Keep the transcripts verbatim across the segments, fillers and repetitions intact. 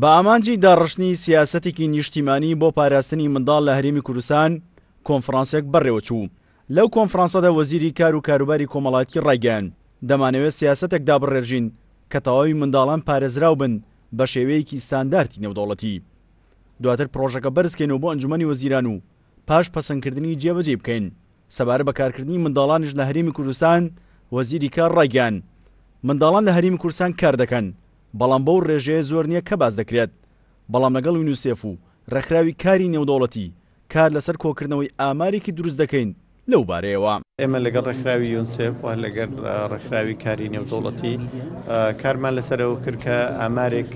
بە ئامانجی داڕشتنی سیاسەتێکی نیشتیمانی بۆ پاراستنی منداڵ لە هەرێمی کوردستان کۆنفرانسێک بەڕێوەچوو. لەو کۆنفرانسەدا وەزیری کار و کاروباری کۆمەڵایەتی ڕایگەیاند، دەمانەوێت سیاسەتێک دابڕێژین کە تەواوی منداڵان پارێزراو بن بە شێوەیەکی ستاندارتی نێودەوڵەتی. دواتر پرۆژەکە بەرزکەینەوە بۆ ئەنجومەنی وەزیران و پاش پەسەندکردنی جێبەجێ بکەین. سەبارەت بە کارکردنی منداڵانیش لە هەرێمی کوردستان، وەزیری کار ڕایگەیاند، منداڵان لە هەرێمی کوردستان کار دەکەن، بەڵام بەو ڕێژەیە زۆر نییە کە باس دەکرێت. بەڵام لەگەڵ یونیسێف و ڕێکخراوی کاری نێودەوڵەتی کار لەسەر کۆکردنەوەی ئامارێکی دروست دەکەین لەو بارەیەوە. ئێمە لەگەڵ ڕێکخراوی یونسێف و لەگەڵ ڕێکخراوی کاری نێودەوڵەتی کارمان لەسەرەوە کرد کە ئامارێک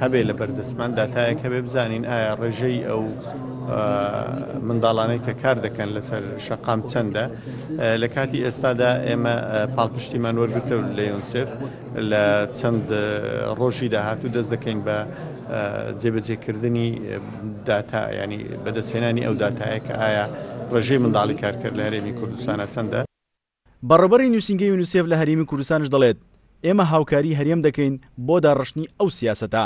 هەبێ لە بەردەستمان، داتایەک هەبێ بزانین ئایا ڕێژەی ئەو منداڵانەی کە کار دەکەن لەسەر شەقام چەندە. لە کاتی ئێستادا ئێمە پاڵپشتیمان وەرگرتەوە لە یونسێف، لە چەند ڕۆژی داهاتوو دەست دەکەین بە جێبەجێکردنی داتا، ینی بەدەستهێنانی ئەو داتایە کە ئایا ڕێژەی منداڵی کارکرد لە هەرێمی کوردستانە چەندە. بەڕێوەبەری نووسینگەی یونیسێف لە هەرێمی کوردستانش دەڵێت، ئێمە هاوکاری هەرێم دەکەین بۆ داڕشتنی ئەو سیاسەتە،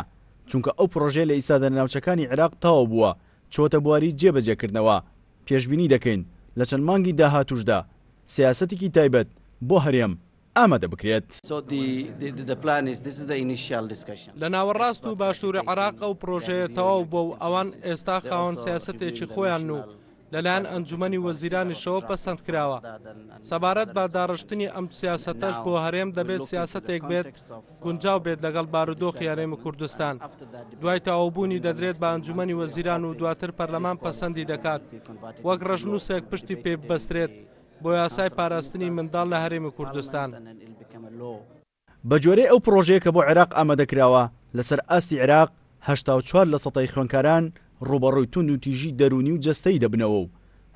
چونکە ئەو پرۆژەیە لە ئیستادا لە ناوچەکانی عێراق تەواو بووە، چۆتە بواری جێبەجێکردنەوە. پێشبینی دەکەین لە چەند مانگی داهاتوشدا سیاسەتێکی تایبەت بۆ هەرێم ئامادە بکرێت. لە ناوەڕاست و باشووری عێراق ئەو پرۆژەیە تەواو بووە و ئەوان ئێستا خاوەن سیاسەتێکی خۆیان و لەلایەن ئەنجومەنی وەزیرانیشەوە پەسەند کراوە. سەبارەت بە داڕشتنی ئەم سیاسەتەش بۆ هەرێم دەبێت سیاسەتێک بێت گونجاو بێت لەگەڵ بارودۆخی هەرێمی کوردستان. دوای تەواوبوونی دەدرێت بە ئەنجومەنی وەزیران و دواتر پەرلەمان پەسەندی دەکات، وەک ڕەشنووسێک پشتی پێ ببەسترێت بۆ یاسای پاراستنی منداڵ لە هەرێمی کوردستان. بە جۆرەی ئەو پرۆژەیە کە بۆ عێراق ئامادەکراوە، لەسەر ئاستی عێراق هەشتا و چوار لە سەتای خوێندکاران ڕووبەڕووی توند و تیژی دەروونی و جەستەیی دەبنەوە و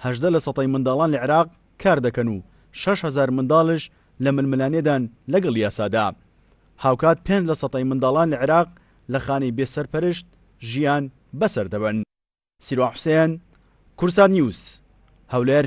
هەژدە لە سەتای منداڵان لە عێراق کار دەکەن و شەش هەزار منداڵش لە ململانێدان لەگەڵ یاسادا. هاوکات پێنج لە سەتای منداڵان لە عێراق لە خانەی بێسەرپەرشت ژیان بەسەر دەبەن. سیروان حوسێن، کوردسات نیوز، هەولێر.